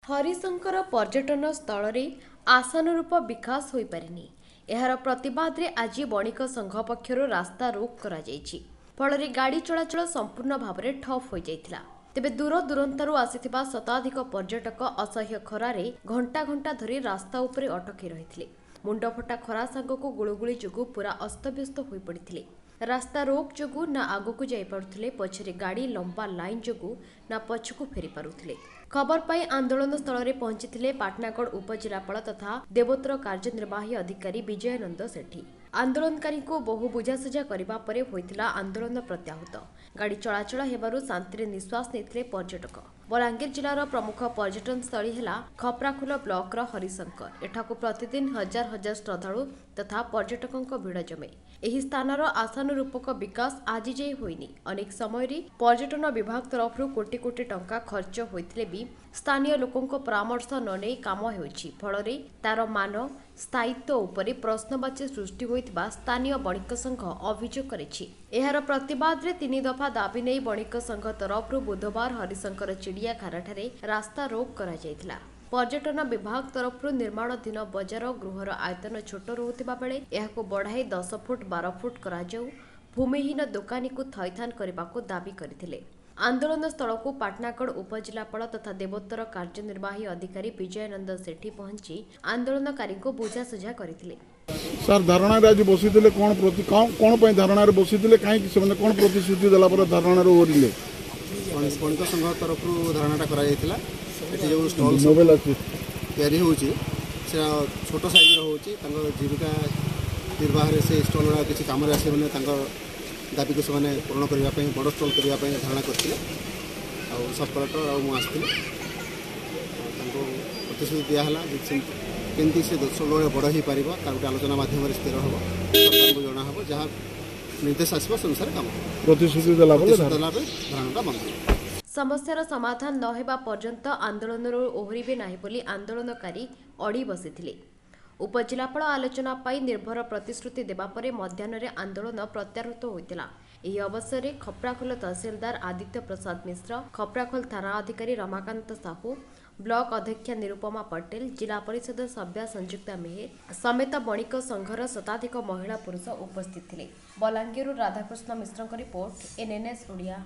ହରିଶଙ୍କର ପର୍ଯ୍ୟଟନ ସ୍ଥଳରେ ଆଶାନୁରୂପ ବିକାଶ ହୋଇପାରିନି। ଏହାର ପ୍ରତିବାଦରେ ଆଜି ବଣିକ ସଂଘ ପକ୍ଷରୁ ରାସ୍ତା ରୋକ କରାଯାଇଛି। ଫଳରେ ଗାଡ଼ି ଚଳାଚଳ ସମ୍ପୂର୍ଣ୍ଣ ଭାବରେ ଠପ୍ ହୋଇଯାଇଥିଲା। ତେବେ ଦୂର ଦୂରାନ୍ତରୁ ଆସିଥିବା ଶତାଧିକ ପର୍ଯ୍ୟଟକ ଅସହ୍ୟ ଖରାରେ ଘଣ୍ଟା ଘଣ୍ଟା ଧରି ରାସ୍ତା ଉପରେ ଅଟକି ରହିଥିଲେ। ମୁଣ୍ଡଫଟା ଖରା ସାଙ୍ଗକୁ ଗୁଳୁଗୁଳି ଯୋଗୁଁ ପୁରା ଅସ୍ତବ୍ୟସ୍ତ ହୋଇପଡ଼ିଥିଲେ। ରାସ୍ତା ରୋକ ଯୋଗୁଁ ନା ଆଗକୁ ଯାଇପାରୁଥିଲେ, ପଛରେ ଗାଡ଼ି ଲମ୍ବା ଲାଇନ୍ ଯୋଗୁଁ ନା ପଛକୁ ଫେରି ପାରୁଥିଲେ। ଖବର ପାଇ ଆନ୍ଦୋଳନ ସ୍ଥଳରେ ପହଞ୍ଚିଥିଲେ ପାଟଣାଗଡ଼ ଉପଜିଲ୍ଲାପାଳ ତଥା ଦେବୋତ୍ତର କାର୍ଯ୍ୟନିର୍ବାହୀ ଅଧିକାରୀ ବିଜୟାନନ୍ଦ ସେଠୀ। ଆନ୍ଦୋଳନକାରୀଙ୍କୁ ବହୁ ବୁଝାସୁଝା କରିବା ପରେ ହୋଇଥିଲା ଆନ୍ଦୋଳନ ପ୍ରତ୍ୟାହୃତ। ଗାଡ଼ି ଚଳାଚଳ ହେବାରୁ ଶାନ୍ତିରେ ନିଶ୍ୱାସ ନେଇଥିଲେ ପର୍ଯ୍ୟଟକ। ବଲାଙ୍ଗୀର ଜିଲ୍ଲାର ପ୍ରମୁଖ ପର୍ଯ୍ୟଟନସ୍ଥଳୀ ହେଲା ଖପ୍ରାଖୋଲ ବ୍ଲକର ହରିଶଙ୍କର। ଏଠାକୁ ପ୍ରତିଦିନ ହଜାର ହଜାର ଶ୍ରଦ୍ଧାଳୁ ତଥା ପର୍ଯ୍ୟଟକଙ୍କ ଭିଡ଼ ଜମେ। ଏହି ସ୍ଥାନର ଆଶାନୁରୂପକ ବିକାଶ ଆଜି ଯାଏଁ ହୋଇନି। ଅନେକ ସମୟରେ ପର୍ଯ୍ୟଟନ ବିଭାଗ ତରଫରୁ କୋଟି କୋଟି ଟଙ୍କା ଖର୍ଚ୍ଚ ହୋଇଥିଲେ ବି ସ୍ଥାନୀୟ ଲୋକଙ୍କ ପରାମର୍ଶ ନ ନେଇ କାମ ହେଉଛି। ଫଳରେ ତାର ମାନ, ସ୍ଥାୟିତ୍ୱ ଉପରେ ପ୍ରଶ୍ନବାଚୀ ସୃଷ୍ଟି ହୋଇଥିବା ସ୍ଥାନୀୟ ବଣିକ ସଂଘ ଅଭିଯୋଗ କରିଛି। ଏହାର ପ୍ରତିବାଦରେ 3 ଦଫା ଦାବି ନେଇ ବଣିକ ସଂଘ ତରଫରୁ ବୁଧବାର ହରିଶଙ୍କର ଚିଡ଼ିଆଖାନାଠାରେ ରାସ୍ତା ରୋକ କରାଯାଇଥିଲା। ପର୍ଯ୍ୟଟନ ବିଭାଗ ତରଫରୁ ନିର୍ମାଣାଧୀନ ବଜାର ଗୃହର ଆୟତନ ଛୋଟ ରହୁଥିବା ବେଳେ ଏହାକୁ ବଢ଼ାଇ 10 ଫୁଟ 12 ଫୁଟ କରାଯାଉ, ଭୂମିହୀନ ଦୋକାନୀକୁ ଥଇଥାନ କରିବାକୁ ଦାବି କରିଥିଲେ। ଆନ୍ଦୋଳନ ସ୍ଥଳକୁ ପାଟଣାଗଡ଼ ଉପଜିଲ୍ଲାପାଳ ତଥା ଦେବୋତ୍ତର କାର୍ଯ୍ୟନିର୍ବାହୀ ଅଧିକାରୀ ବିଜୟାନନ୍ଦ ସେଠୀ ପହଞ୍ଚି ଆନ୍ଦୋଳନକାରୀଙ୍କୁ ବୁଝାସୁଝା କରିଥିଲେ। ସାର୍, ଧାରଣାରେ ଆଜି ବସିଥିଲେ, କ'ଣ କ'ଣ ପାଇଁ ଧାରଣାରେ ବସିଥିଲେ? କାହିଁକି ସେମାନେ କ'ଣ ପ୍ରତିଶ୍ରୁତି ଦେଲା ପରେ ଧାରଣାରୁ ଓହରିଲେ? ବଣିକ ସଂଘ ତରଫରୁ ଧାରଣାଟା କରାଯାଇଥିଲା। ଏଠି ଯେଉଁ ଷ୍ଟଲ୍ ମୋବାଇଲ ଅଛି ତିଆରି ହେଉଛି, ସେଟା ଛୋଟ ସାଇଜ୍ର ହେଉଛି। ତାଙ୍କ ଜୀବିକା ନିର୍ବାହରେ ସେ ଷ୍ଟଲ୍ ଗୁଡ଼ା କିଛି କାମରେ ଆସିବନି। ତାଙ୍କ ଦାବିକୁ ସେମାନେ ପୂରଣ କରିବା ପାଇଁ ବଡ଼ ଷ୍ଟଲ୍ କରିବା ପାଇଁ ଧାରଣା କରିଥିଲେ। ଆଉ ସବ୍ କଲେକ୍ଟର ଆଉ ମୁଁ ଆସିଥିଲି। ତାଙ୍କୁ ପ୍ରତିଶ୍ରୁତି ଦିଆହେଲା ଯେ କେମିତି ସେ ଷ୍ଟଲ୍ ଗୁଡ଼ା ବଡ଼ ହୋଇପାରିବ, ତାର ଗୋଟେ ଆଲୋଚନା ମାଧ୍ୟମରେ ସ୍ଥିର ହେବ, ସରକାରଙ୍କୁ ଜଣା ହେବ, ଯାହା ନିର୍ଦ୍ଦେଶ ଆସିବ ସେ ଅନୁସାରେ କାମ ହେବ। ପ୍ରତିଶ୍ରୁତି ଦେଲା ପରେ ଦେଲା ପରେ ଧାରଣାଟା ବନ୍ଦ ହେବ। ସମସ୍ୟାର ସମାଧାନ ନ ହେବା ପର୍ଯ୍ୟନ୍ତ ଆନ୍ଦୋଳନରୁ ଓହରିବେ ନାହିଁ ବୋଲି ଆନ୍ଦୋଳନକାରୀ ଅଡ଼ି ବସିଥିଲେ। ଉପଜିଲ୍ଲାପାଳ ଆଲୋଚନା ପାଇଁ ନିର୍ଭର ପ୍ରତିଶ୍ରୁତି ଦେବା ପରେ ମଧ୍ୟାହ୍ନରେ ଆନ୍ଦୋଳନ ପ୍ରତ୍ୟାହୃତ ହୋଇଥିଲା। ଏହି ଅବସରରେ ଖପ୍ରାଖୋଲ ତହସିଲଦାର ଆଦିତ୍ୟ ପ୍ରସାଦ ମିଶ୍ର, ଖପ୍ରାଖୋଲ ଥାନା ଅଧିକାରୀ ରମାକାନ୍ତ ସାହୁ, ବ୍ଲକ ଅଧ୍ୟକ୍ଷା ନିରୁପମା ପଟେଲ, ଜିଲ୍ଲା ପରିଷଦ ସଭ୍ୟା ସଂଯୁକ୍ତା ମେହେର ସମେତ ବଣିକ ସଂଘର ଶତାଧିକ ମହିଳା ପୁରୁଷ ଉପସ୍ଥିତ ଥିଲେ। ବଲାଙ୍ଗୀରରୁ ରାଧାକୃଷ୍ଣ ମିଶ୍ରଙ୍କ ରିପୋର୍ଟ, ଏନ୍ଏନ୍ଏସ୍ ଓଡ଼ିଆ।